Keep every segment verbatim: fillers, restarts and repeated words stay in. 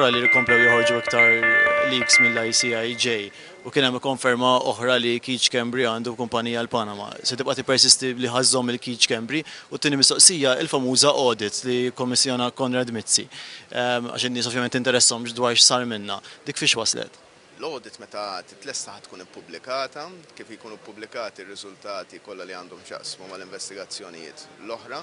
Wara li komplew joħorġu iktar leaks mill-I C I J u kien hemm konferma oħra li Keith Schembri għandu kumpanija l-Panama. Se tibqa' tippersisti li ħa żżomm lil Keith Schembri? U t-tieni mistoqsija, il-famuża audit li kommissjona Konrad Mizzi. Għax in-nies ovvjament interessahom dwar x'sar minna. Dik fiex waslet? L-audit meta titlesta ħa tkun ippubblikata, kif jkunu ppubblikati r-riżultati kollha li għandhom x'jaqsmu mal-investigazzjonijiet l-oħra.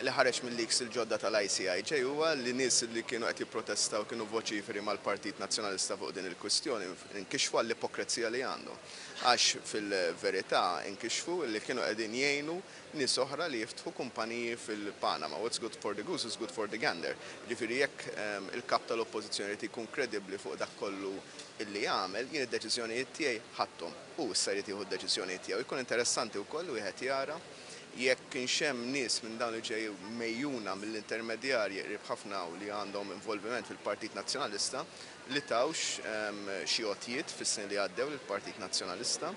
Li ħareġ mill-leaks il-ġodda tal-I C I J huwa li nies li kienu qed jipprotestaw, kienu voċiferi mal-Partit Nazzjonalista fuq din il-kwistjoni, inkixfu għall-ipokrezija li għandhom. Għax fil-verità inkixfu li kienu qegħdin jgħinu nies oħra li jiftħu kumpaniji fil-Panama. What's good for the goose is good for the gander. Ġifieri jekk ehm, il-kap tal-oppożizzjoni jrid jkun kredibbli fuq dak kollu illi jagħmel, jien id-deċiżjonijiet tiegħi ħadthom. U issa jrid jieħu d-deċiżjonijiet tiegħu. Jkun interessanti wkoll wieħed jara jekk kienx hemm nies minn dawn li ġew megħjuna mill-intermedjarji qrib ħafna u li għandhom involviment fil-Partit Nazzjonalista li tawx ehm, xi għotjiet fis-snin li għaddew lill-Partit Nazzjonalista,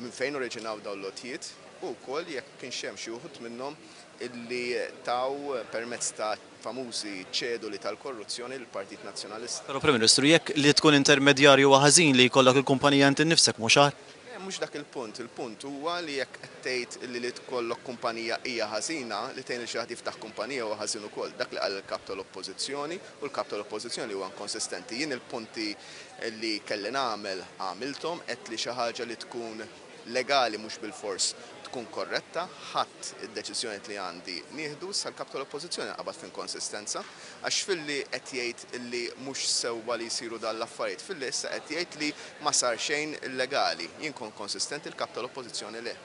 minn fejn oriġinaw dawn l-għotjiet u wkoll jekk kienx hemm xi wħud minnhom illi taw permezz ta' famużi ċeduli tal-korruzzjoni l-Partit Nazzjonalista. Però, Prim Ministru, jekk li tkun intermedjarju huwa ħażin, li jkollok il-kumpanija inti nnifsek mhux agħar? Le, mhux dak il-punt. Il-punt huwa li jekk qed tgħid li li tkollok kumpanija hija ħażina, li tgħin li xi ħadd jiftaħ kumpanija huwa ħażin ukoll. Dak li qal il-kap tal-Oppożizzjoni, u l-kap tal-Oppożizzjoni huwa inkonsistenti. Jien il-punti li kelli nagħmel għamilthom, qed li xi ħaġa li tkun legali mhux bil-fors tkun korretta, ħadd id-deċiżjoni li għandi nieħdu sal-kap tal-Oppożizzjoni qabad f'inkonsistenza, għax filli qed jgħid li mhux sewwa li jsiru dan l-affarijiet, filli issa qed jgħid li ma sar xejn illegali. Jien kon konsistenti, il-kap tal-Oppożizzjoni le.